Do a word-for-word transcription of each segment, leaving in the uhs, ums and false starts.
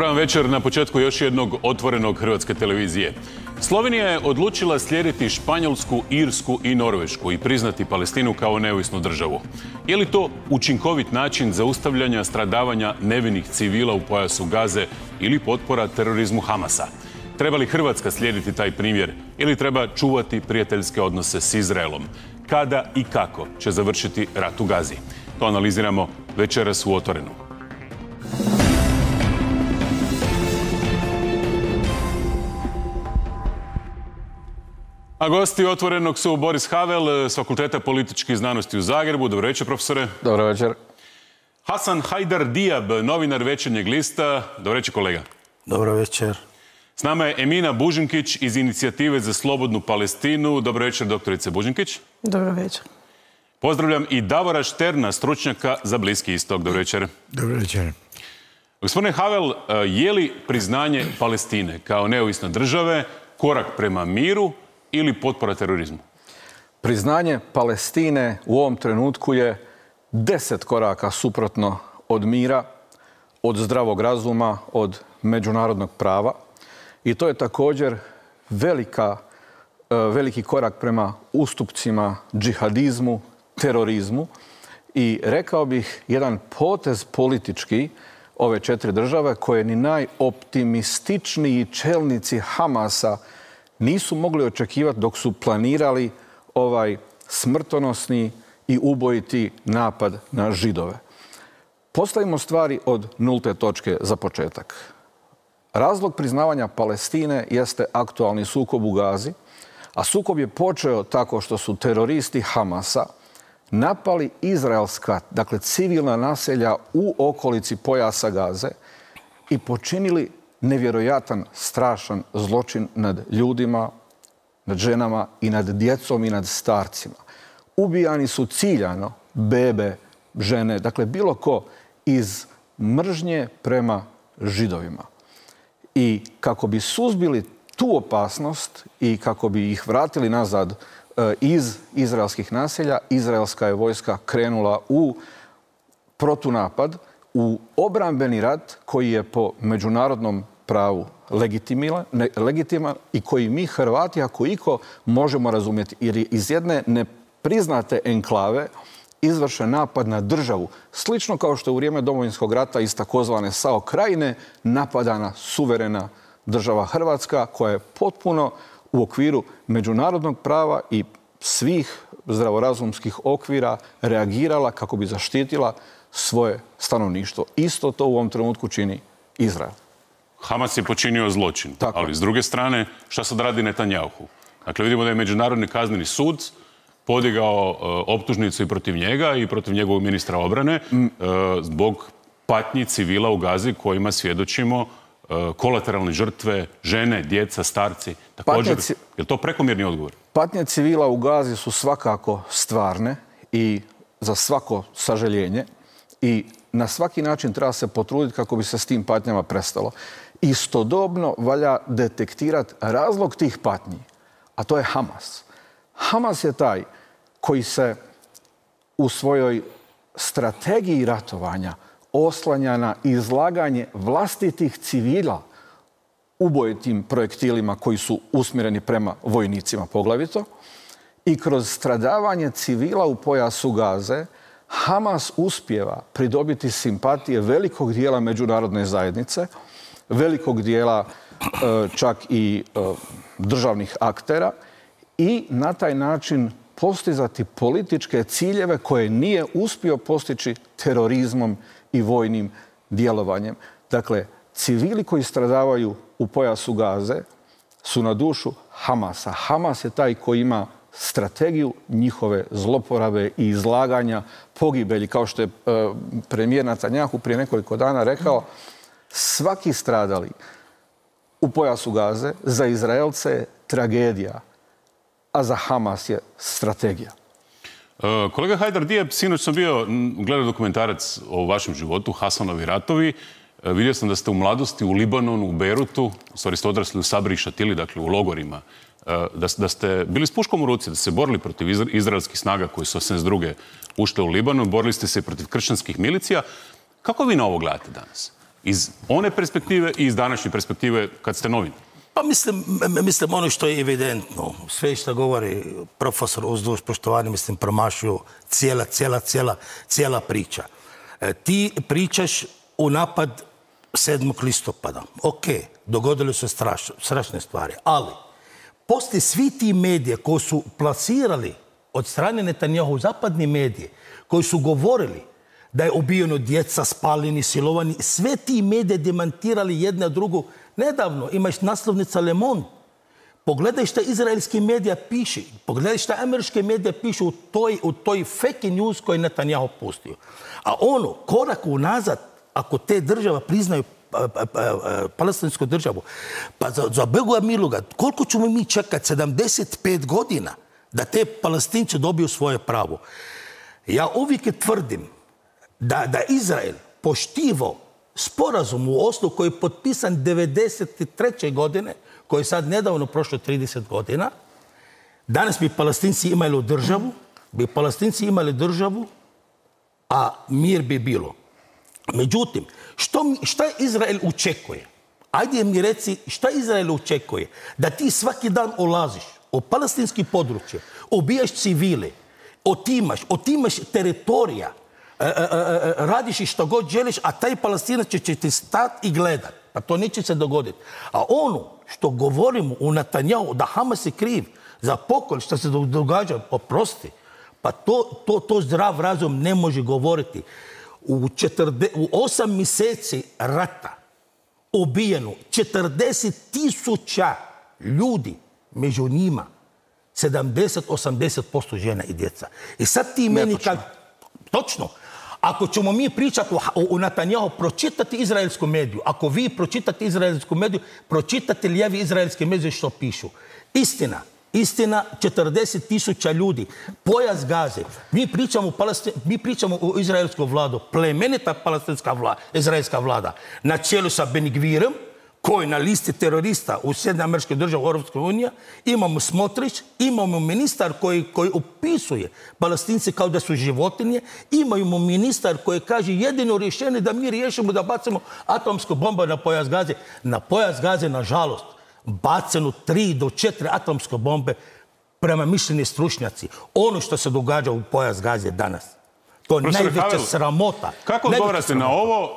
Dobar vam večer na početku još jednog otvorenog Hrvatske televizije. Slovenija je odlučila slijediti Španjolsku, Irsku i Norvešku i priznati Palestinu kao neovisnu državu. Je li to učinkovit način zaustavljanja stradavanja nevinih civila u pojasu Gaze ili potpora terorizmu Hamasa? Treba li Hrvatska slijediti taj primjer ili treba čuvati prijateljske odnose s Izraelom? Kada i kako će završiti rat u Gazi? To analiziramo večeras u Otvorenu. A gosti Otvorenog su Boris Havel s Fakulteta političkih znanosti u Zagrebu. Dobro večer, profesore. Dobro večer. Hasan Hajdar-Diab, novinar Večernjeg lista. Dobro večer, kolega. Dobro večer. S nama je Emina Bužinkić iz Inicijative za slobodnu Palestinu. Dobro večer, doktorice Bužinkić. Dobro večer. Pozdravljam i Davora Šterna, stručnjaka za Bliski istok. Dobro večer. Dobro večer. Gospodine Havel, je li priznanje Palestine kao neovisne države korak prema miru ili potpora terorizmu? Priznanje Palestine u ovom trenutku je deset koraka suprotno od mira, od zdravog razuma, od međunarodnog prava. I to je također velika, veliki korak prema ustupcima džihadizmu, terorizmu i rekao bih jedan potez politički ove četiri države koje ni najoptimističniji čelnici Hamasa nisu mogli očekivati dok su planirali ovaj smrtonosni i ubojiti napad na Židove. Postavimo stvari od nulte točke za početak. Razlog priznavanja Palestine jeste aktualni sukob u Gazi, a sukob je počeo tako što su teroristi Hamasa napali izraelska, dakle civilna naselja u okolici pojasa Gaze i počinili nevjerojatan, strašan zločin nad ljudima, nad ženama i nad djecom i nad starcima. Ubijani su ciljano bebe, žene, dakle bilo ko iz mržnje prema Židovima. I kako bi suzbili tu opasnost i kako bi ih vratili nazad iz izraelskih naselja, izraelska je vojska krenula u protunapad, u obrambeni rat koji je po međunarodnom pravu legitiman i koji mi Hrvati, ako iko, možemo razumjeti. Jer je iz jedne nepriznate enklave izvršen napad na državu. Slično kao što je u vrijeme Domovinskog rata iz takozvane SAO Krajine napadana suverena država Hrvatska koja je potpuno u okviru međunarodnog prava i svih zdravorazumskih okvira reagirala kako bi zaštitila svoje stanovništvo. Isto to u ovom trenutku čini Izrael. Hamas je počinio zločin, Tako. ali s druge strane, šta sad radi Netanjahu? Dakle, vidimo da je Međunarodni kazneni sud podigao uh, optužnicu i protiv njega i protiv njegovog ministra obrane mm. uh, zbog patnji civila u Gazi kojima svjedočimo uh, kolateralne žrtve, žene, djeca, starci. Također, ci... je li to prekomjerni odgovor? Patnje civila u Gazi su svakako stvarne i za svako sažaljenje i na svaki način treba se potruditi kako bi se s tim patnjama prestalo. Istodobno valja detektirati razlog tih patnji, a to je Hamas. Hamas je taj koji se u svojoj strategiji ratovanja oslanja na izlaganje vlastitih civila ubojitim projektilima koji su usmjereni prema vojnicima poglavito i kroz stradavanje civila u pojasu Gaze Hamas uspijeva pridobiti simpatije velikog dijela međunarodne zajednice, velikog dijela čak i državnih aktera i na taj način postizati političke ciljeve koje nije uspio postići terorizmom i vojnim djelovanjem. Dakle, civili koji stradavaju u pojasu Gaze su na dušu Hamasa. Hamas je taj koji ima strategiju njihove zloporabe i izlaganja pogibelji. Kao što je premijer Netanjahu prije nekoliko dana rekao, svaki stradali u pojasu Gaze za Izraelce je tragedija, a za Hamas je strategija. Kolega Hajdar-Diab, sinoć sam bio gledao dokumentarac o vašem životu, Hasanovi ratovi. Vidio sam da ste u mladosti u Libanonu, u Beirutu, u stvari ste odrasli u Sabri i Šatili, dakle u logorima, da, da ste bili s puškom u ruci, da ste se borili protiv izraelskih snaga koji su osamdeset druge ušle u Libanon, borili ste se protiv kršćanskih milicija. Kako vi na ovo gledate danas? Iz one perspektive i iz današnje perspektive kad ste novin? Pa mislim, mislim ono što je evidentno. Sve što govori profesor uz duž poštovanje, mislim, promašuju cijela, cijela, cijela, cijela priča. E, ti pričaš u napad sedmog listopada. Ok, dogodile su straš, strašne stvari, ali poslije svi ti medije koji su plasirali od strane Netanjahu zapadni medije, koji su govorili da je ubijeno djeca, spaljeni, silovani, sve ti medije demantirali jedna drugu. Nedavno imaš naslovnica Le Monde. Pogledaj šta izraelski medija piše. Pogledaj šta američke medije pišu u toj, u toj fake news koju je Netanjahu pustio. A ono, korak unazad, ako te država priznaju pa, pa, pa, palestinsku državu, pa za, za Boga miloga, koliko ćemo mi čekati? sedamdeset pet godina da te Palestinci dobiju svoje pravo. Ja uvijek tvrdim da, da Izrael poštivao sporazum u Oslu koji je potpisan devedeset treće godine, koji je sad nedavno prošlo trideset godina. Danas bi Palestinci imali državu, bi Palestinci imali državu, a mir bi bilo. Međutim, što, šta Izrael očekuje? Ajde mi reci šta Izrael očekuje? Da ti svaki dan ulaziš u palestinski područje, ubijaš civile, otimaš, otimaš teritorija, E, e, e, radiš i što god želiš, a taj Palestinac će ti stati i gledat. Pa to neće se dogoditi. A ono što govorimo u Netanjahu, da Hamas je kriv za pokolj što se događa, oprosti, pa to, to, to zdrav razum ne može govoriti. U, četrde, u osam mjeseci rata ubijeno četrdeset tisuća ljudi, među njima sedamdeset do osamdeset posto žena i djeca. I sad ti meni kad... Točno. Ako ćemo mi pričati u Netanjahu, pročitati izraelsku mediju, ako vi pročitate izraelsku mediju, pročitate lijevi izraelske medije što pišu. Istina, istina, četrdeset tisuća ljudi, pojas Gaze. Mi pričamo, Palestin, mi pričamo o izraelsku vladu, plemenita palestinska vlada, izraelska vlada, na čelu sa Ben Gvirom, koji na listi terorista u Sjedinjenim Američkim Državama Europske unije, imamo Smotrić, imamo ministar koji, koji opisuje Palestince kao da su životinje, imamo ministar koji kaže jedino rješenje da mi riješimo da bacimo atomsku bombu na pojas Gaze. Na pojas Gaze, nažalost, baceno tri do četiri atomske bombe prema mišljeni stručnjaci. Ono što se događa u pojas Gaze danas. To je najveća Havel, sramota. Kako odgovarate na ovo?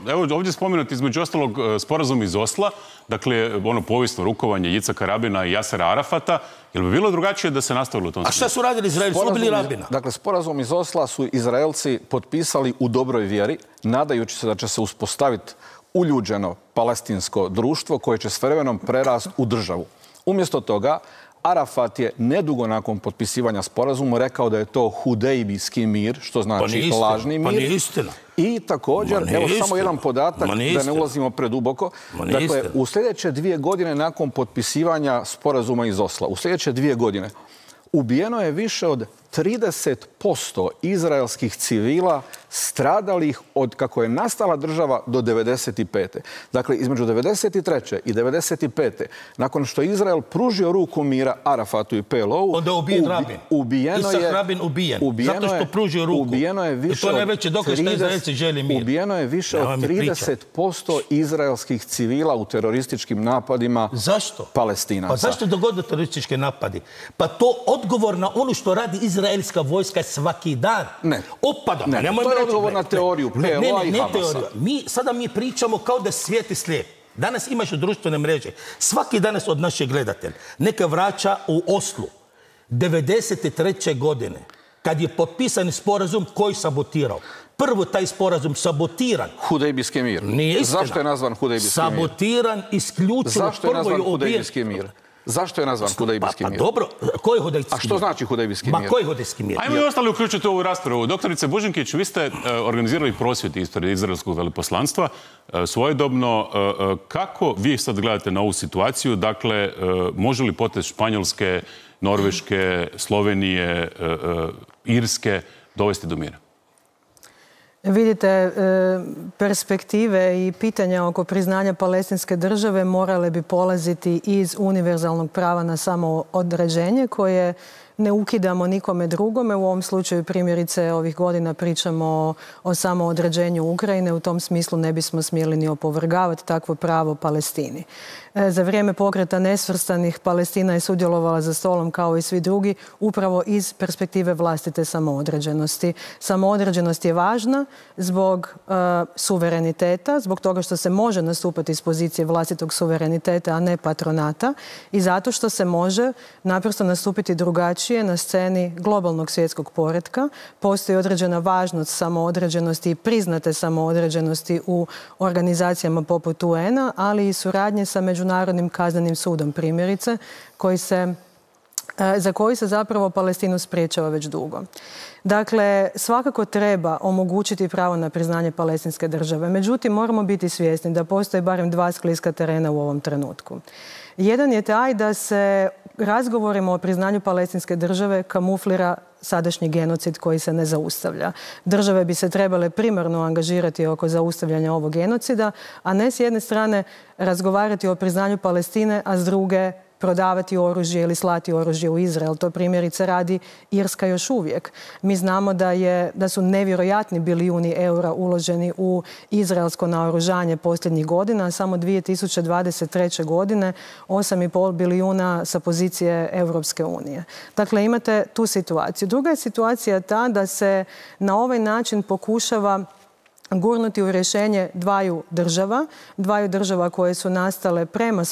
Evo ovdje spomenuti između ostalog sporazum iz Osla, dakle ono povijesno rukovanje Jicaka Rabina i Jasera Arafata. Jel bi bilo drugačije da se nastavilo u tom smjeru? A šta su radili Izraelci? Su ubili Rabina. Dakle, sporazum iz Osla su Izraelci potpisali u dobroj vjeri, nadajući se da će se uspostaviti uljuđeno palestinsko društvo koje će s vremenom prerasti u državu. Umjesto toga, Arafat je nedugo nakon potpisivanja sporazuma rekao da je to hudejbijski mir, što znači pa lažni mir. Pa nije istina. I također, evo istina. Samo jedan podatak, da ne ulazimo preduboko. Dakle, istina. U sljedeće dvije godine nakon potpisivanja sporazuma iz Osla, u sljedeće dvije godine, ubijeno je više od trideset posto izraelskih civila stradalih od kako je nastala država do devedeset pete. Dakle, između devedeset treće i devedeset pete nakon što je Izrael pružio ruku mira Arafatu i P L O-u, onda je ubijen Rabin. Ubijeno Isak je, Rabin ubijen, ubijeno zato što pružio ruku. Ubijeno je više I to najveći dokaz što Izraelci želi mir. Ubijeno je više od trideset posto izraelskih civila u terorističkim napadima zašto? Palestinaca. Pa zašto dogodilo terorističke napadi? Pa to odgovor na ono što radi izraelska vojska svaki dan. Ne. Opada. Ne, ne, to je odgovor na teoriju P L O-a i Hamasa. Mi, sada mi pričamo kao da svijet je slijep. Danas imaš društvene mreže. Svaki danas od naših gledatelja neka vraća u Oslu devedeset treće godine kad je potpisan sporazum koji sabotirao. Prvo taj sporazum sabotiran. Hudejbijski mir. Nije istina. Zašto je nazvan Hudejbijski mir? Sabotiran isključivo. Zašto je nazvan Hudejbijski mir? Zašto je nazvan Hudejbijski mir? Pa, pa dobro, koji je Hudejbijski mir? A što znači Hudejbijski mir? Ma koji je Hudejbijski mir? Ajmo i ostali uključiti u ovu raspravu. Doktorice Bužinkić, vi ste organizirali prosvjed ispred izraelskog veleposlanstva. Svojedobno, kako vi sad gledate na ovu situaciju? Dakle, može li potez Španjolske, Norveške, Slovenije, Irske dovesti do mira? Vidite, perspektive i pitanja oko priznanja palestinske države morale bi polaziti iz univerzalnog prava na samoodređenje koje ne ukidamo nikome drugome. U ovom slučaju primjerice ovih godina pričamo o, o samoodređenju Ukrajine. U tom smislu ne bismo smjeli ni opovrgavati takvo pravo Palestini. E, za vrijeme pokreta nesvrstanih Palestina je sudjelovala za stolom kao i svi drugi upravo iz perspektive vlastite samoodređenosti. Samoodređenost je važna zbog e, suvereniteta, zbog toga što se može nastupati iz pozicije vlastitog suvereniteta, a ne patronata, i zato što se može naprosto nastupiti drugačije na sceni globalnog svjetskog poretka. Postoji određena važnost samoodređenosti i priznate samoodređenosti u organizacijama poput U N-a, ali i suradnje sa Međunarodnim kaznenim sudom, primjerice, koji se, za koji se zapravo Palestinu spriječava već dugo. Dakle, svakako treba omogućiti pravo na priznanje palestinske države. Međutim, moramo biti svjesni da postoje barem dva skliska terena u ovom trenutku. Jedan je taj da se razgovorima o priznanju palestinske države kamuflira sadašnji genocid koji se ne zaustavlja. Države bi se trebale primarno angažirati oko zaustavljanja ovog genocida, a ne s jedne strane razgovarati o priznanju Palestine, a s druge prodavati oružje ili slati oružje u Izrael. To primjerice radi Irska još uvijek. Mi znamo da, je, da su nevjerojatni bilijuni eura uloženi u izraelsko naoružanje posljednjih godina, a samo dvije tisuće dvadeset treće. godine osam i pol bilijuna sa pozicije Europske unije. Dakle, imate tu situaciju. Druga je situacija ta da se na ovaj način pokušava gurnuti u rješenje dvaju država, dvaju država koje su nastale prema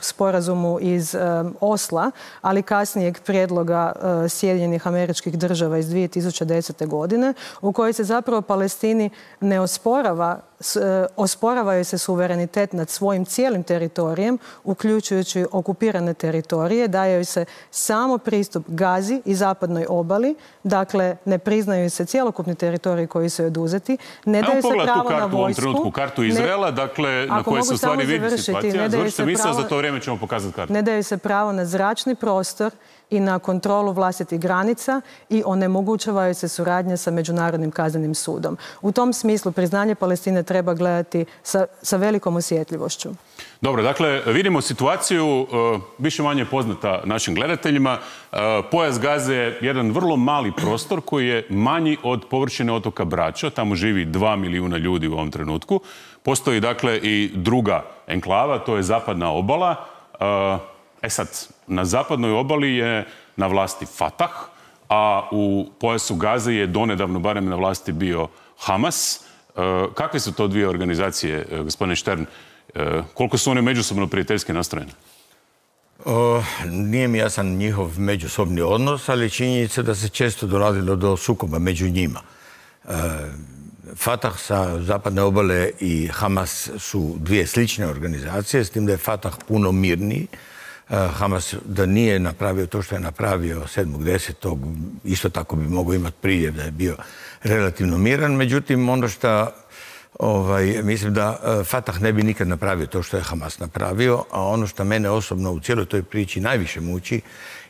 sporazumu iz um, Osla, ali kasnijeg prijedloga uh, Sjedinjenih Američkih Država iz dvije tisuće desete. godine, u kojoj se zapravo Palestini ne osporava, s, uh, osporavaju se suverenitet nad svojim cijelim teritorijem, uključujući okupirane teritorije, daje se samo pristup Gazi i zapadnoj obali, dakle ne priznaju se cjelokupni teritoriji koji su oduzeti, ne daju se pravo na vojsku. U ovom trenutku kartu Izraela, dakle, na kojoj se u stvari vidi situacija. Završite misao, za to vrijeme ćemo pokazati kartu. Ne daju se pravo na zračni prostor i na kontrolu vlastitih granica i onemogućavaju se suradnje sa Međunarodnim kaznenim sudom. U tom smislu priznanje Palestine treba gledati sa, sa velikom osjetljivošću. Dobro, dakle, vidimo situaciju uh, više manje poznata našim gledateljima. Uh, pojas Gaze je jedan vrlo mali prostor koji je manji od površine otoka Brača. Tamo živi dva milijuna ljudi u ovom trenutku. Postoji, dakle, i druga enklava, to je zapadna obala. Uh, E sad, na zapadnoj obali je na vlasti Fatah, a u pojasu Gaze je donedavno barem na vlasti bio Hamas. E, kakve su to dvije organizacije, gospodine Štern? E, koliko su one međusobno prijateljski nastrojene? O, nije mi jasan njihov međusobni odnos, ali činjenica da se često dolazilo do sukoba među njima. E, Fatah sa zapadne obale i Hamas su dvije slične organizacije, s tim da je Fatah puno mirniji. Hamas da nije napravio to što je napravio sedmog desetog isto tako bi mogao imati priljev da je bio relativno miran. Međutim, ono što ovaj, mislim da Fatah ne bi nikad napravio to što je Hamas napravio, a ono što mene osobno u cijeloj toj priči najviše muči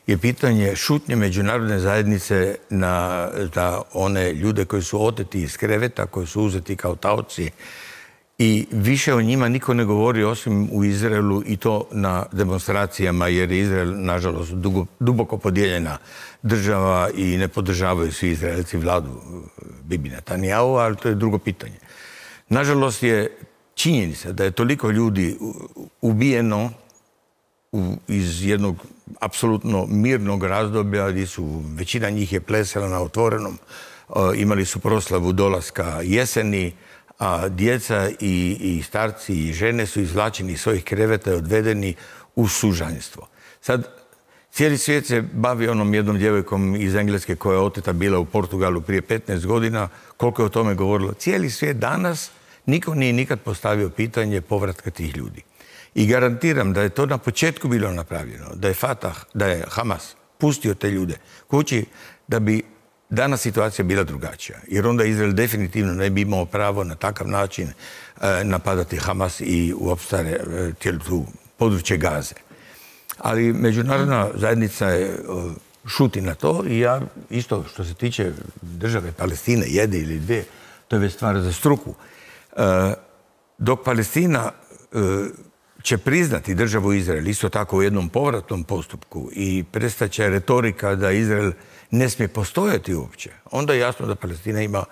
je pitanje šutnje međunarodne zajednice na da one ljude koji su oteti iz kreveta, koji su uzeti kao taoci, i više o njima niko ne govori osim u Izraelu i to na demonstracijama, jer je Izrael, nažalost, dugo, duboko podijeljena država i ne podržavaju svi Izraelci vladu Bibi Netanjahu, ali to je drugo pitanje. Nažalost je činjenica da je toliko ljudi ubijeno u, iz jednog apsolutno mirnog razdoblja gdje su, većina njih je plesala na otvorenom, imali su proslavu dolaska jeseni, a djeca i, i starci i žene su izvlačeni iz svojih kreveta i odvedeni u sužanjstvo. Sad, cijeli svijet se bavi onom jednom djevojkom iz Engleske koja je oteta bila u Portugalu prije petnaest godina, koliko je o tome govorilo. Cijeli svijet danas, niko nije nikad postavio pitanje povratka tih ljudi. I garantiram da je to na početku bilo napravljeno, da je Fatah, da je Hamas pustio te ljude kući, da bi danas situacija bila drugačija, jer onda Izrael definitivno ne bi imao pravo na takav način e, napadati Hamas i uopšte cijelu tu područje Gaze. Ali međunarodna zajednica je o, šuti na to i ja isto što se tiče države Palestine, jedne ili dvije, to je već stvar za struku. E, dok Palestina e, će priznati državu Izrael, isto tako u jednom povratnom postupku, i prestaće retorika da Izrael ne smije postojati uopće, onda je jasno da Palestina ima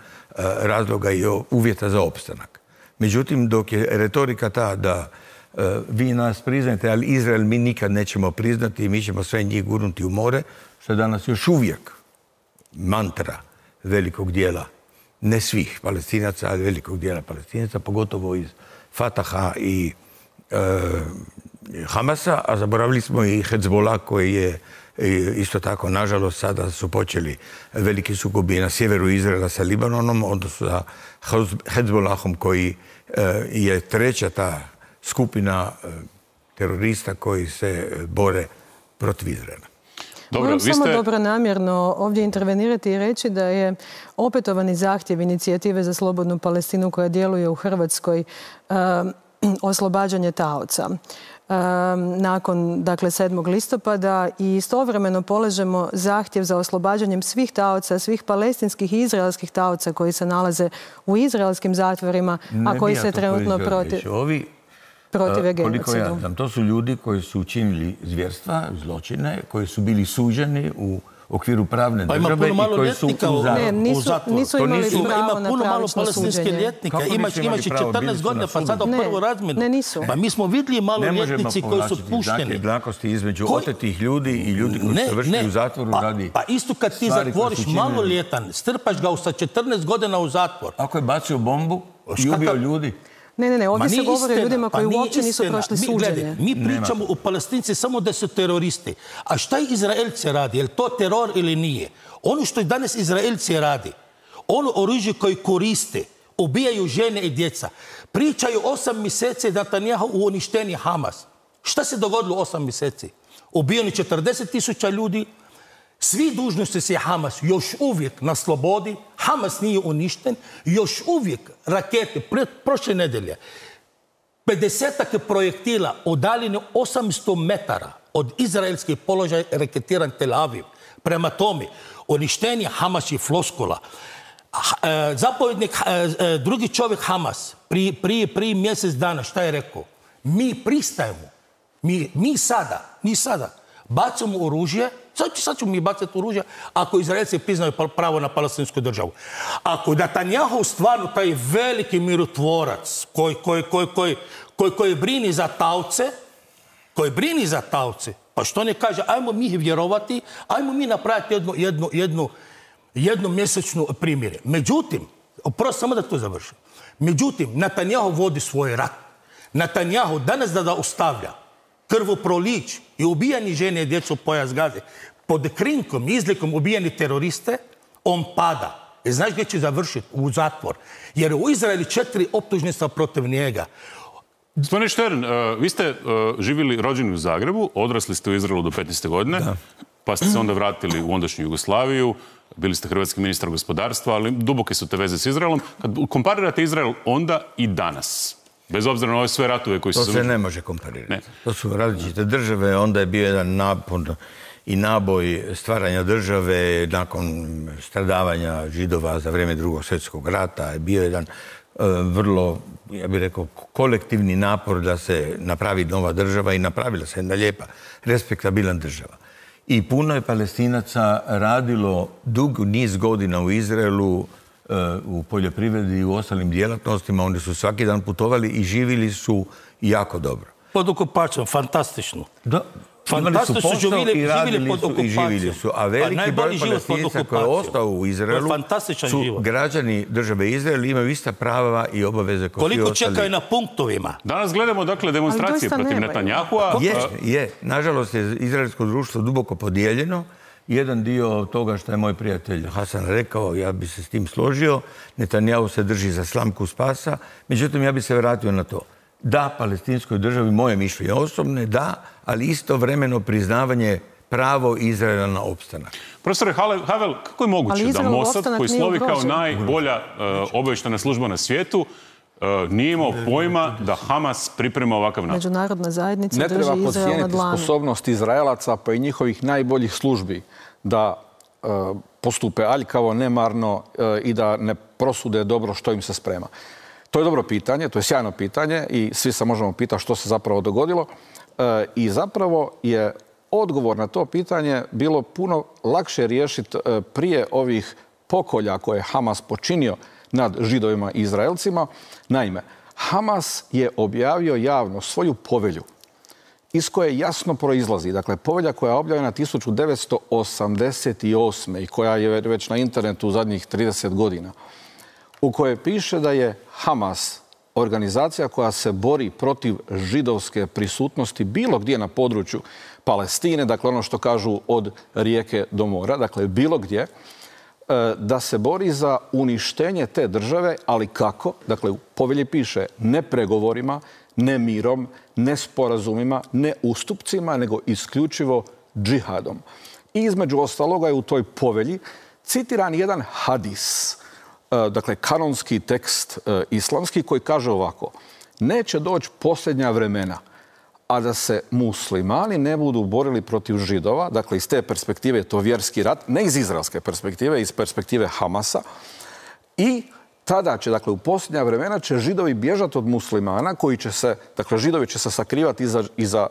razloga i uvjeta za opstanak. Međutim, dok je retorika ta da vi nas priznajete, ali Izrael mi nikad nećemo priznati i mi ćemo sve njih gurnuti u more, što je danas još uvijek mantra velikog dijela, ne svih Palestinaca, ali velikog dijela Palestinaca, pogotovo iz Fataha i e, Hamasa, a zaboravili smo i Hezbollah koji je isto tako, nažalost, sada su počeli veliki sukobi na sjeveru Izraela sa Libanonom, odnosno sa Hezbollahom koji je treća ta skupina terorista koji se bore protiv Izraela. Dobro, Moram samo ste... dobronamjerno ovdje intervenirati i reći da je opetovani zahtjev inicijative za slobodnu Palestinu koja djeluje u Hrvatskoj um, oslobađanje taoca. nakon dakle, sedmog listopada i istovremeno polažemo zahtjev za oslobađanjem svih taoca, svih palestinskih i izraelskih taoca koji se nalaze u izraelskim zatvorima, ne a koji se trenutno protiv, Ovi, protiv uh, genocidu. Ja znam, to su ljudi koji su učinili zvjerstva, zločine, koji su bili suđeni u okviru pravne države i koji su u ne, nisu, nisu imali nisu, pravo na puno malo palestinske ljetnika. Imaš, imaš i četrnaest godina pa sada u prvu razmjenu. Ne, nisu. Pa mi smo vidjeli malo ljetnici koji su pušteni. Ne jednakosti između koji... otetih ljudi i ljudi koji su vršili u zatvoru pa, radi Pa isto kad ti zatvoriš maloljetan, strpaš ga sa četrnaest godina u zatvor. Ako je bacio bombu i ubio ljudi. Ne, ne, ne, ovdje se govori o ljudima koji pa uopće nisu prošli suđenje. Mi pričamo o Palestinci samo da su teroristi. A šta Izraelci radi? Je li to teror ili nije? Ono što danas Izraelci radi, ono oružje koje koriste, ubijaju žene i djeca, pričaju osam mjeseci da Netanjahu u uništeni Hamas. Šta se dogodilo osam mjeseci? Ubijeni četrdeset tisuća ljudi, svi dužnosnici Hamas još uvijek na slobodi, Hamas nije uništen, još uvijek rakete, prošle nedelje, pedesetak projektila udaljene osamsto metara od izraelskih položaja raketiran Tel Aviv. Prema tome, uništenje Hamas je floskula. Zapovjednik, drugi čovjek Hamas, prije, prije, prije mjesec dana, šta je rekao? Mi pristajemo, mi, mi sada, mi sada bacamo oružje. Sad, sad ćemo mi bacati oružje ako Izraelci priznaju pravo na palestinsku državu. Ako Netanjahu stvarno taj veliki mirotvorac koji, koji, koji, koji, koji, koji brini za taoce, koji brini za taoce, pa što ne kaže, ajmo mi vjerovati, ajmo mi napraviti jednu, jednu, jednu, jednu mjesečnu primjere. Međutim, oprosti samo da to završim. Međutim, Netanjahu vodi svoj rat. Netanjahu danas da da ostavlja krvoprolić i ubijani žene i djecu pojas Gaze, pod krinkom i izlikom ubijeni teroriste, on pada. I znaš gdje će završiti? U zatvor. Jer u Izraeli četiri optužnica protiv njega. Gospodine Štern, vi ste živjeli rođeni u Zagrebu, odrasli ste u Izraelu do petnaeste godine, da. Pa ste se onda vratili u ondašnju Jugoslaviju, bili ste hrvatski ministar gospodarstva, ali duboke su te veze s Izraelom. Kad komparirate Izrael onda i danas, bez obzira na ove sve ratove koji su... To se ne može komparirati. Ne. To su različite države, onda je bio jedan napon i naboj stvaranja države nakon stradavanja Židova za vrijeme drugog svjetskog rata. Je bio jedan uh, vrlo, ja bih rekao, kolektivni napor da se napravi nova država i napravila se jedna lijepa, respektabilna država. I puno je Palestinaca radilo dug niz godina u Izraelu, u poljoprivredi i u ostalim djelatnostima. Oni su svaki dan putovali i živjeli su jako dobro. Pod okupacijom, fantastično. Da. Fantastično su živjeli, i živjeli pod okupacijom. I živjeli su. A veliki broj Palestinaca koji je ostao u Izraelu su život. Građani države Izrael, imaju ista prava i obaveze kao koliko svi ostali. Čekaju na punktovima. Danas gledamo dakle demonstracije protiv Netanjahua. Je, je. Nažalost je izraelsko društvo duboko podijeljeno. Jedan dio toga što je moj prijatelj Hasan rekao, ja bi se s tim složio, Netanjahu se drži za slamku spasa, međutim ja bi se vratio na to. Da, palestinskoj državi, moje mišljenje osobne, da, ali istovremeno priznavanje pravo Izraela na opstanak. Profesore Havel, kako je moguće da Mossad, koji slovi kao najbolja uh, obavještajna služba na svijetu, Uh, nije imao pojma da Hamas priprema ovakav napad? Međunarodna zajednica ne drži Izrael na dlanu. Ne treba podcijeniti sposobnost Izraelaca pa i njihovih najboljih službi da uh, postupe aljkavo, nemarno uh, i da ne prosude dobro što im se sprema. To je dobro pitanje, to je sjajno pitanje i svi se možemo pitati što se zapravo dogodilo. E, I zapravo je odgovor na to pitanje bilo puno lakše riješiti e, prije ovih pokolja koje je Hamas počinio nad Židovima i Izraelcima. Naime, Hamas je objavio javno svoju povelju iz koje jasno proizlazi, dakle, povelja koja je objavljena tisuću devetsto osamdeset osme i koja je već na internetu u zadnjih trideset godina, u kojoj piše da je Hamas organizacija koja se bori protiv židovske prisutnosti bilo gdje na području Palestine, dakle ono što kažu od rijeke do mora, dakle bilo gdje, da se bori za uništenje te države, ali kako? Dakle, u povelji piše ne pregovorima, ne mirom, ne sporazumima, ne ustupcima, nego isključivo džihadom. I između ostaloga je u toj povelji citiran jedan hadis, dakle kanonski tekst islamski koji kaže ovako: neće doći posljednja vremena, a da se muslimani ne budu borili protiv Židova, dakle iz te perspektive je to vjerski rat, ne iz izraelske perspektive, iz perspektive Hamasa, i tada će, dakle u posljednja vremena će Židovi bježati od muslimana koji će se, dakle Židovi će se sakrivati iza, iza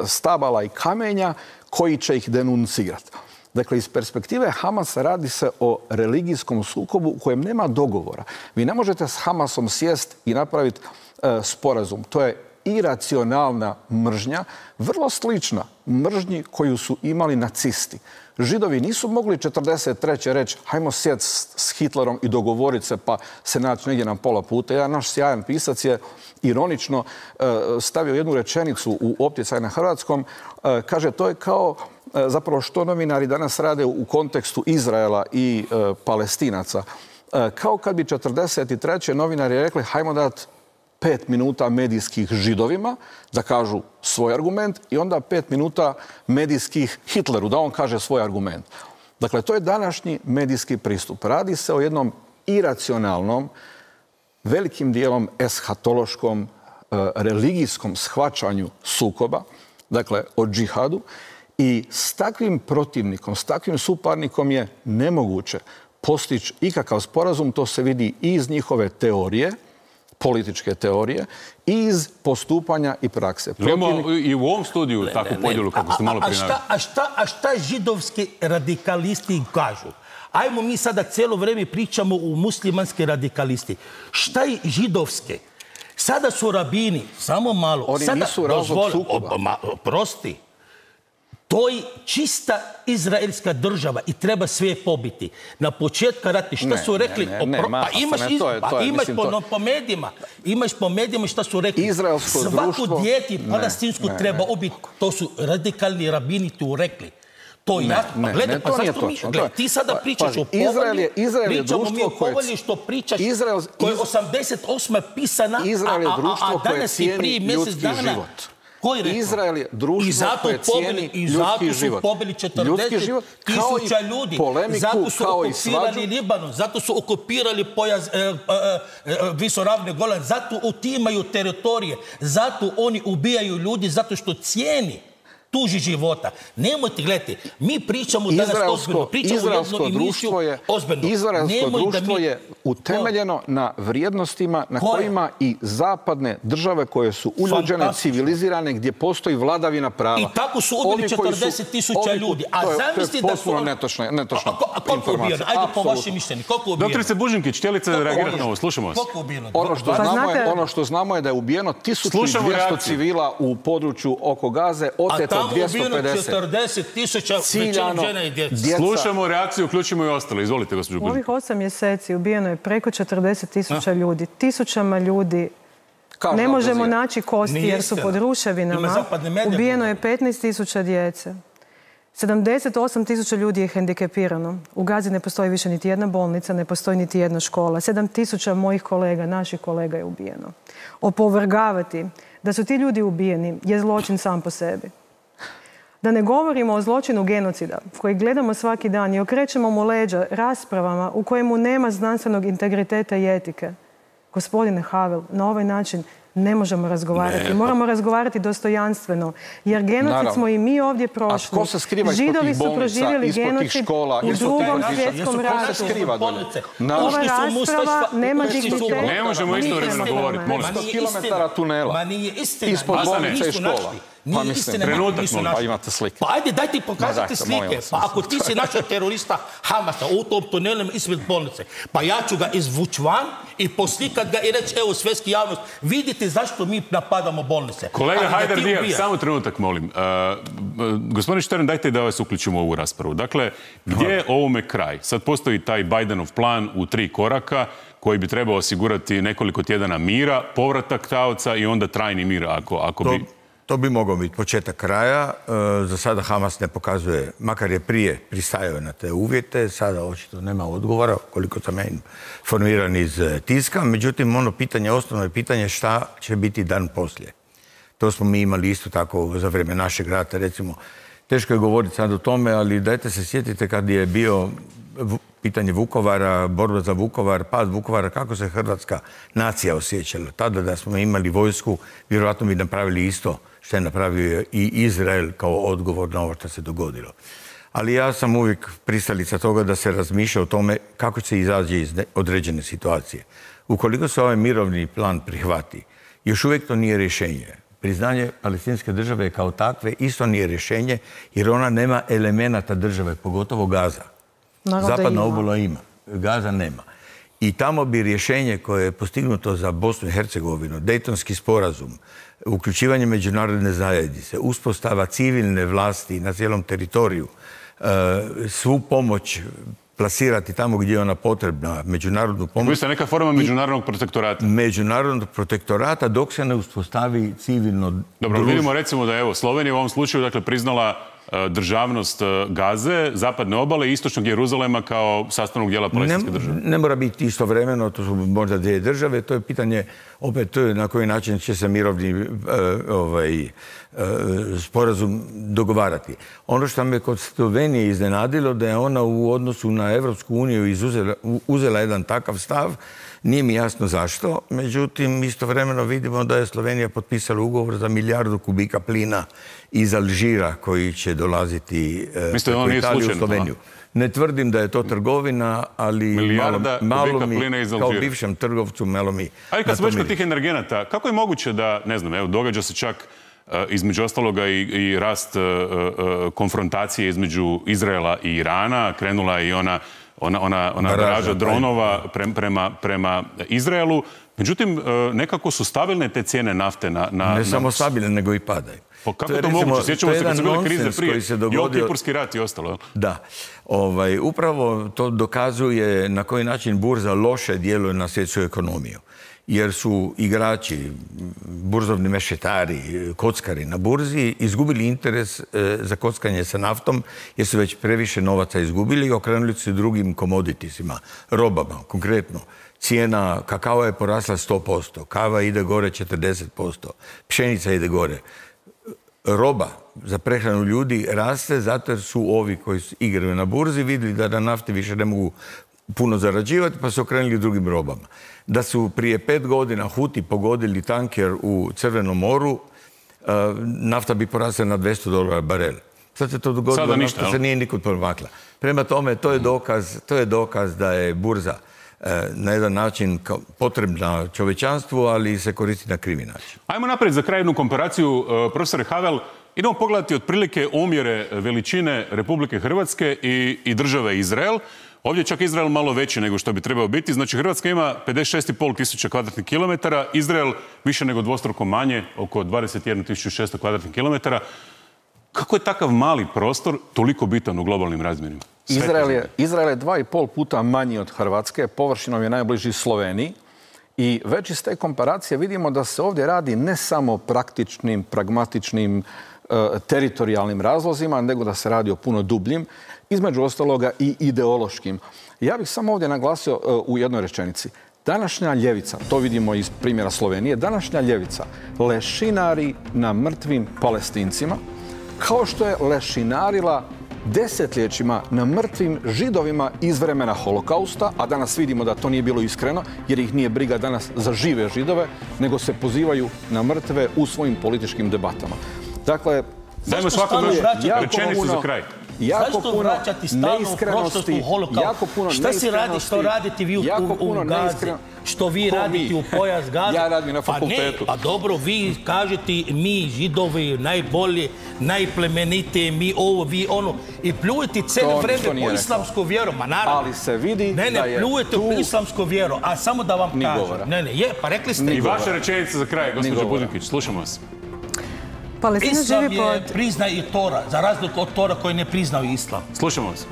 stabala i kamenja koji će ih denuncirati. Dakle, iz perspektive Hamasa radi se o religijskom sukobu u kojem nema dogovora. Vi ne možete s Hamasom sjest i napraviti e, sporazum. To je iracionalna mržnja, vrlo slična mržnji koju su imali nacisti. Židovi nisu mogli četrdeset treće reći hajmo sjeti s Hitlerom i dogovoriti se pa se naći negdje na pola puta. Jedan naš sjajan pisac je ironično e, stavio jednu rečenicu u Opticaj na hrvatskom. E, kaže, to je kao e, zapravo što novinari danas rade u kontekstu Izraela i e, Palestinaca. E, kao kad bi četrdeset treće novinari rekli hajmo dati pet minuta medijskih Židovima da kažu svoj argument i onda pet minuta medijskih Hitleru da on kaže svoj argument. Dakle, to je današnji medijski pristup. Radi se o jednom iracionalnom, velikim dijelom eshatološkom, religijskom shvaćanju sukoba, dakle o džihadu, i s takvim protivnikom, s takvim suparnikom je nemoguće postići ikakav sporazum. To se vidi i iz njihove teorije, političke teorije, i iz postupanja i prakse. Imamo i u ovom studiju takvu podjelu kako ste malo prije naveli. A šta, a šta židovski radikalisti kažu? Ajmo mi sada cijelo vrijeme pričamo u muslimanski radikalisti. Šta je židovske? Sada su rabini, samo malo. Oni sada, nisu razlog sukoba. Ma, prosti. To je čista izraelska država i treba sve pobiti. Na početku rata šta su rekli? Ne, ne, ne, pa imaš, ne, to je, to je, pa imaš mislim, po, to... po medijima, imaš po medijima šta su rekli. Izraelsko Svaku društvo... dijete palestinsku ne, treba ne. ubiti. To su radikalni rabini tu rekli. To je jasno. Ne, Pa gledaj, ne, pa to nije zašto mi... točno. Gledaj, ti sada pričaš Pazi, o povolji, Izrael je, Izrael je pričamo mi o društvo koje... povolji što pričaš, Izrael, koje je osamdeset osme pisana, Izrael je a, a, društvo a, a koje danas i cijeni prije mjesec ljudski dana... život. Izrael je društvo koje cijeni i ljudski zato su život. pobili četrdeset tisuća ljudi. Polemiku, zato su kao okupirali i Libanon, zato su okupirali pojas e, e, e, visoravni Golan, zato otimaju teritorije, zato oni ubijaju ljudi, zato što cijeni tuži života. Nemojte, gledajte, mi pričamo danas ozbiljno, pričamo jednu emisiju ozbiljno. Izraelsko društvo je utemeljeno na vrijednostima na kojima i zapadne države koje su uljuđene, civilizirane, gdje postoji vladavina prava. I tako su ubili četrdeset tisuća ljudi. A zamisli da su... netočna informacija. Ajde po vašem mišljenju, koliko ubijeno? Doktorice Bužinkić, htjelice reagirati na ovo, slušamo vas. Koliko ubijeno? Ono što znamo je da je ubijeno tisuću dvjesto civila u području oko Gaze, oteto dvjesto pedeset. četrdeset tisuća većinom žena i djeca. Slušamo reakciju, uključimo i ostale. Izvolite, gospođo Bužinkić. U ovih osam mjeseci ubijeno je preko četrdeset tisuća ljudi. Tisućama ljudi ne možemo naći kosti jer su pod ruševinama. Ubijeno je petnaest tisuća djece. sedamdeset osam tisuća ljudi je hendikepirano. U Gazi ne postoji više niti jedna bolnica, ne postoji niti jedna škola. sedam tisuća mojih kolega, naših kolega je ubijeno. Opovrgavati da su ti ljudi ubijeni je zločin sam po sebi. Da ne govorimo o zločinu genocida koji gledamo svaki dan i okrećemo mu leđa raspravama u kojemu nema znanstvenog integriteta i etike. Gospodine Havel, na ovaj način ne možemo razgovarati. Ne. Moramo razgovarati dostojanstveno. Jer genocid Naravno. smo i mi ovdje A prošli. tko se skriva ispod Židovi tih su bolnica, proživjeli ispod tih genocid škola, u ispod tih drugom vrtića? svjetskom Jesu ratu. skriva dolje? Na- Ova Ušli su u rasprava Mustafa- nema ušli su u- dignitet. Ne možemo istovremeno Ništa. govoriti, molim. Ma sto nije kilometara istina. tunela. Ma nije istina. Ispod Nisu bolnica i našli. škola. Nije Pa mislim, istina, trenutak, nisu molim. našli. Pa imate slike. Pa ajde, daj ti Ma pokažite dajte, molim slike. vas, Pa mislim. ako ti si našao terorista Hamasa u tom tunelu ispred bolnice, pa ja ću ga izvući van i poslikat ga i reći, evo, svjetski javnost, vidite zašto mi napadamo bolnice. Kolega Ali da Hajdar ti Diab, ubijaš. samo trenutak, molim. Uh, gospodin Štern, dajte da vas uključimo u ovu raspravu. Dakle, gdje je ovome kraj? Sad postoji taj Bidenov plan u tri koraka koji bi trebao osigurati nekoliko tjedana mira, povratak taoca i onda trajni mir, ako, ako To, bi... to bi mogao biti početak kraja. E, za sada Hamas ne pokazuje, makar je prije pristajao na te uvjete, sada očito nema odgovora, koliko sam ja informiran iz e, tiska. Međutim, ono pitanje, osnovno je pitanje šta će biti dan poslije. To smo mi imali isto tako za vrijeme našeg rata, recimo. Teško je govoriti sad o tome, ali dajte se sjetite kad je bio vu- pitanje Vukovara, borba za Vukovar, pad Vukovara, kako se hrvatska nacija osjećala. Tada da smo imali vojsku, vjerojatno bi napravili isto što je napravio i Izrael kao odgovor na ovo što se dogodilo. Ali ja sam uvijek pristalica toga da se razmišlja o tome kako se izađe iz ne- određene situacije. Ukoliko se ovaj mirovni plan prihvati, još uvijek to nije rješenje. Priznanje palestinske države kao takve isto nije rješenje jer ona nema elemenata države, pogotovo Gaza. Naravno da Zapadna ima. obala ima, Gaza nema. I tamo bi rješenje koje je postignuto za Bosnu i Hercegovinu, Dejtonski sporazum, uključivanje međunarodne zajednice, uspostava civilne vlasti na cijelom teritoriju, e, svu pomoć plasirati tamo gdje je ona potrebna, međunarodnu pomoć. Vi ste neka forma međunarodnog protektorata. Međunarodnog protektorata dok se ne uspostavi civilno Dobro, društvo. vidimo recimo da je evo, Slovenija u ovom slučaju dakle, priznala e, državnost e, Gaze, zapadne obale i istočnog Jeruzalema kao sastavnog dijela palestinske Ne, države. ne mora biti istovremeno, to su možda dvije države, to je pitanje opet to je na koji način će se mirovni e, ovaj, e, sporazum dogovarati. Ono što me kod Slovenije iznenadilo da je ona u odnosu na Evropsku uniju izuzela, uzela jedan takav stav, nije mi jasno zašto, međutim istovremeno vidimo da je Slovenija potpisala ugovor za milijardu kubika plina iz Alžira koji će dolaziti e, Mislite da ono preko nije Italije u slučajno, Sloveniju. Ne tvrdim da je to trgovina, ali Milijarda malo, malo kubika mi, plina iz kao Alžira. bivšem trgovcu, malo mi... Ali na kad smo to već kod miriši. tih energenata, kako je moguće da, ne znam, evo, događa se čak e, između ostaloga i, i rast e, e, konfrontacije između Izraela i Irana, krenula je i ona, ona, ona, ona Baraža, baraža dronova pre- prema, prema Izraelu. Međutim, e, nekako su stabilne te cijene nafte na... na Ne na- samo stabilne, nego i padaju. Pa kako je, to recimo, moguće? Sjećamo to je se kad su jedan bile krize nonsens prije, koji se Jom dogodio. Kipurski rat i ostalo. Jel? Da. Ovaj, upravo to dokazuje na koji način burza loše djeluje na svjetsku ekonomiju. Jer su igrači, burzovni mešetari, kockari na burzi izgubili interes e, za kockanje sa naftom jer su već previše novaca izgubili i okrenuli se drugim komoditisima, robama, konkretno. Cijena kakao je porasla sto posto, kava ide gore četrdeset posto, pšenica ide gore. Roba za prehranu ljudi raste zato jer su ovi koji igraju na burzi vidjeli da na nafti više ne mogu puno zarađivati pa su okrenuli drugim robama. Da su prije pet godina Huti pogodili tanker u Crvenom moru, uh, nafta bi porasla na dvjesto dolara barel. Sad se to dogodilo, Sada ništa, nafta se jel? nije nikud pomakla. Prema tome, to je dokaz, to je dokaz da je burza uh, na jedan način kao potrebna čovječanstvu, ali se koristi na krivi način. Ajmo naprijed za kraj jednu komparaciju, uh, profesore Havel. Idemo pogledati otprilike omjere veličine Republike Hrvatske i, i države Izrael. Ovdje je čak Izrael malo veći nego što bi trebao biti. Znači Hrvatska ima pedeset šest i pol tisuća kvadratnih kilometara, Izrael više nego dvostruko manje, oko dvadeset jednu tisuću šesto kvadratnih kilometara. Kako je takav mali prostor toliko bitan u globalnim razmjerima? Sve to Izrael znači. je, Izrael je dva i pol puta manji od Hrvatske, površinom je najbliži Sloveniji i već iz te komparacije vidimo da se ovdje radi ne samo o praktičnim, pragmatičnim, e, teritorijalnim razlozima, nego da se radi o puno dubljim, između ostaloga i ideološkim. Ja bih samo ovdje naglasio e, u jednoj rečenici. Današnja ljevica, to vidimo iz primjera Slovenije, današnja ljevica lešinari na mrtvim Palestincima, kao što je lešinarila desetljećima na mrtvim židovima iz vremena holokausta, a danas vidimo da to nije bilo iskreno, jer ih nije briga danas za žive židove, nego se pozivaju na mrtve u svojim političkim debatama. Dakle, dajmo svakom još rečenicu za kraj. Zašto vraćati stalno u prošlost u holokaust? Šta si radi, što radite vi u Gazi? Što vi radite u pojas Gaze? Ja radim na fakultetu. Pa ne, pa dobro, vi kažete mi židovi najbolje, najplemenitije, mi ovo, vi ono. I pljujete cijelo vreme po islamsku vjeru. Ma naravno. Ali se vidi da je tu... Ne, ne, pljujete po islamsku vjeru. A samo da vam kažem. Ne, ne, je, pa rekli ste... I vaša rečenica za kraj, gospođo Budinkić, slušamo vas. Islam je prizna i Tora, za razliku od Tora koji ne priznao islam. Slušamo vas.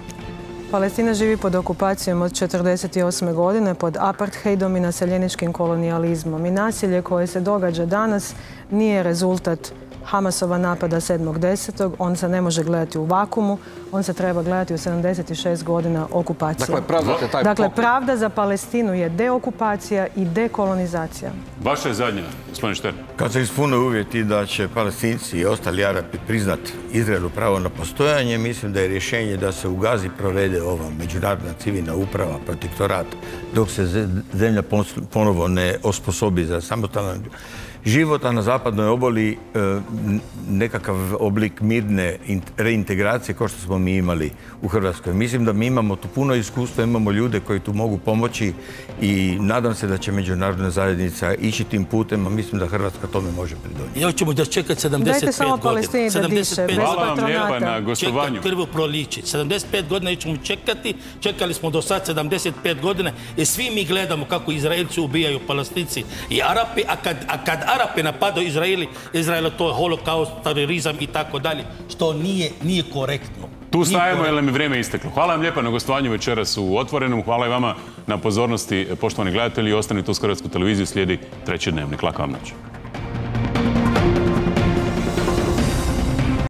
Palestina živi pod okupacijom od četrdeset osme godine, pod apartheidom i naseljeničkim kolonijalizmom. I nasilje koje se događa danas nije rezultat Hamasova napada sedmog desetog On se ne može gledati u vakumu, on se treba gledati u sedamdeset šest godina okupacije. Dakle, pravdate taj Dakle, pravda za Palestinu je deokupacija i dekolonizacija. Vaša je zadnja, gospodin Štern. Kad se ispune uvjeti da će Palestinci i ostali Arapi priznat Izraelu pravo na postojanje, mislim da je rješenje da se u Gazi provede ova međunarodna civilna uprava, protektorat, dok se zemlja ponovo ne osposobi za samostalan život, a na zapadnoj obali nekakav oblik mirne reintegracije kao što smo mi imali u Hrvatskoj. Mislim da mi imamo tu puno iskustva, imamo ljude koji tu mogu pomoći i nadam se da će međunarodna zajednica ići tim putem, a mislim da Hrvatska tome može pridonijeti. Ja ćemo da čekati sedamdeset pet godina. Hvala vam lijepa na gostovanju. Čekam krvo proliči. sedamdeset pet godina ćemo čekati, čekali smo do sad sedamdeset pet godina i svi mi gledamo kako Izraelci ubijaju Palestinci i Arapi, a kad, a kad Arapi napadaju Izraeli, Izraela to je holokaust, terorizam i tako dalje, što nije, nije korektno. Tu stajemo jer nam je vrijeme isteklo. Hvala vam lijepa na gostovanju večeras u Otvorenom. Hvala i vama na pozornosti, poštovani gledatelji. Ostanite uz Hrvatsku televiziju, slijedi treći dnevnik. Laka vam noć.